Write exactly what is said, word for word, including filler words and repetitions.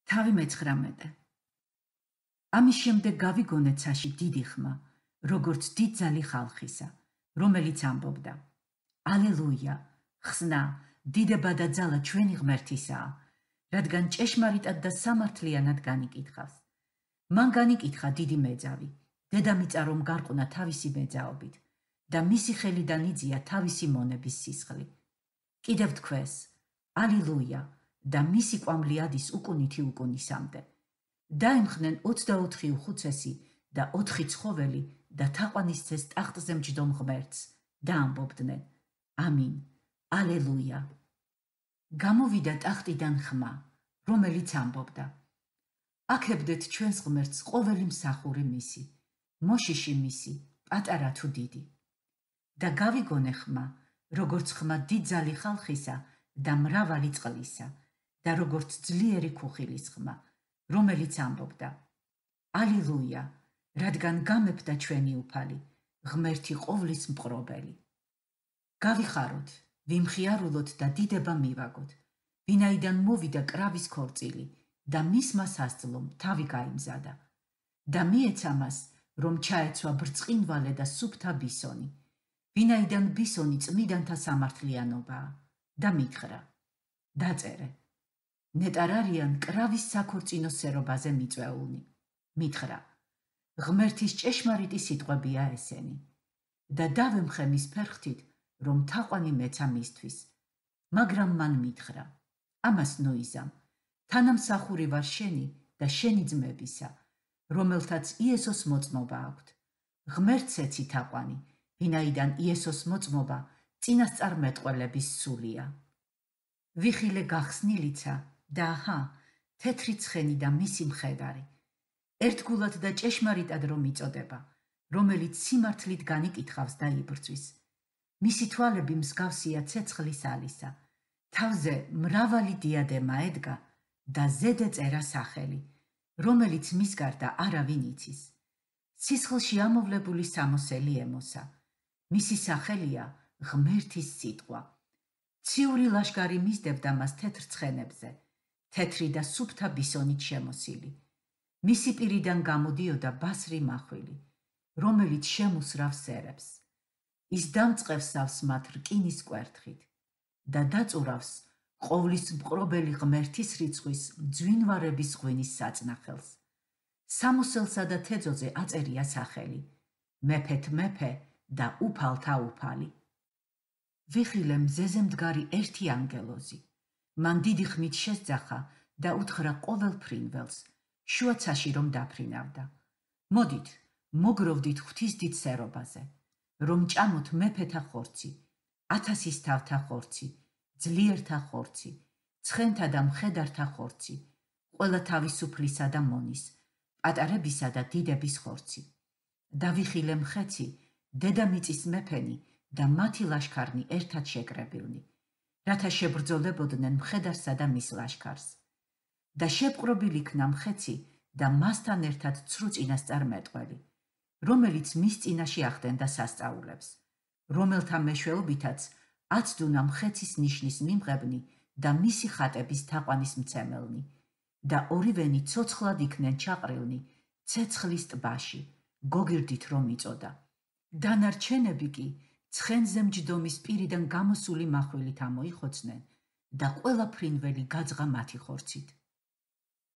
თავი მეცხრამეტე. ამის შემდეგ გავიგონეთ ცაში დიდი ხმა, როგორც დიდ ძალი ხალხისა, რომელიც ამბობდა: ალელუია, ხსნა, დიდება და ძალა ჩვენი ღმერთისაა, რადგან ჭეშმარიტად და სამართლიანად განიკითხავს. მან განიკითხა დიდი მეძავი, დედამიწა რომ გარყუნა თავისი მეძაობით და მისი ხელიდან იძლია თავისი მონების სისხლი. კიდევ თქვეს: ალილუია და მისი კვამლი ადის უკუნითი უკუნისამდე. დაემხნენ ოცდაოთხი უხუცესი და ოთხი ცხოველი და თაყვანისცეს ტახტზე მჯდომ ღმერთს და ამბობდნენ: ამინ, ალელუია. გამოვიდა ტახტიდან ხმა, რომელიც ამბობდა: აქებდეთ ჩვენს ღმერთს ყოველი მსახური მისი, მოშიში მისი, პატარა თუ დიდი. და გავიგონე ხმა, როგორც ხმა დიდ ძალი ხალხისა და მრავალი წყლისა და როგორც ძლიერი ქუხილის ხმა, რომელიც ამბობდა: ალილუია, რადგან გამეფდა ჩვენი უფალი, ღმერთი ყოვლის მყრობელი. გავიხაროთ, ვიმხიარულოთ და დიდება მივაგოთ, ვინაიდან მოვიდა კრავის ქორწილი და მისმა სასძლომ თავი გაიმზადა. და მიეცა მას, რომ ჩაეცვა ბრწყინვალე და სუფთა ბისონი, ვინაიდან ბისონი წმიდანთა სამართლიანობაა და მითხრა: დაწერე, ნეტარარიან კრავის საქორწინო სერობაზე მიწვეულნი. მითხრა: ღმერთის ჭეშმარიტი სიტყვებია ესენი და დავემხე მის ფერხთით, რომ თაყვანი მეცა მისთვის. მაგრამ მან მითხრა: ამას ნოიზამ, თანამსახური ვარ შენი და შენი ძმებისა, რომელთაც იესოს მოწმობა აქვთ. ღმერთს ეცი თაყვანი, ვინაიდან იესოს მოწმობა წინასწარმეტყველების სულია. ვიხილე გახსნილიცა და აჰა, თეთრი ცხენი და მისი მხედარი, ერთგულად და ჭეშმარიტად რომ იწოდება, რომელიც სიმართლით განიკითხავს და იბრძვის. მისი თვალები მსგავსია ცეცხლის ალისა, თავზე მრავალი დიადემა ედგა და ზედ ეწერა სახელი, რომელიც მის გარდა არავინ იცის. სისხლში ამოვლებული სამოსელი ემოსა, მისი სახელია ღმერთის სიტყვა. ციური ლაშქარი მისდებდა მას თეთრ ცხენებზე, თეთრი და სუფთა ბისონით შემოსილი. მისი პირიდან გამოდიოდა ბასრი მახვილი, რომელიც შემუსრავს სერებს. ის დამწყევსავს მათ რკინის კვერთხით და დაწურავს ყოვლის მყრობელი ღმერთის რიცხვის მძვინვარების ღვინის საწნახელს. სამოსელსა და თეძოზე აწერია სახელი: მეფეთ მეფე და უფალთა უფალი. ვიხილე მზეზე მდგარი ერთი ანგელოზი. მან დიდი ხმით შესძახა და უთხრა ყოველ ფრინველს, შუაცაში რომ დაფრინავდა: მოდით, მოგროვდით ღვთისდიდ სერობაზე, რომ ჭამოთ მეფეთა ხორცი, ათასის თავთა ხორცი, ძლიერთა ხორცი, ცხენთა და მხედართა ხორცი, ყველა თავისუფლისა და მონის, პატარებისა და დიდების ხორცი. და ვიხილე მხეცი, დედამიწის მეფენი და მათი ლაშქარნი ერთად შეკრებილნი, რათა შებრძოლებოდნენ მხედარსა და მის ლაშქარს. და შეპყრობილ იქნა მხეცი და მასთან ერთად ცრუ წინასწარმეტყველი, რომელიც მის წინაში ახდენდა სასწაულებს, რომელთა მეშვეობითაც აცდუნა მხეცის ნიშნის მიმღებნი და მისი ხატების თაყვანის მცემელნი, და ორივენი ცოცხლად იქნენ ჩაყრილნი ცეცხლის ტბაში, გოგირდით რომ იწოდა. დანარჩენები კი ცხენზე მჯდომის პირიდან გამოსული მახვილით ამოიხოცნენ და ყველა ფრინველი გაძღა მათი ხორცით.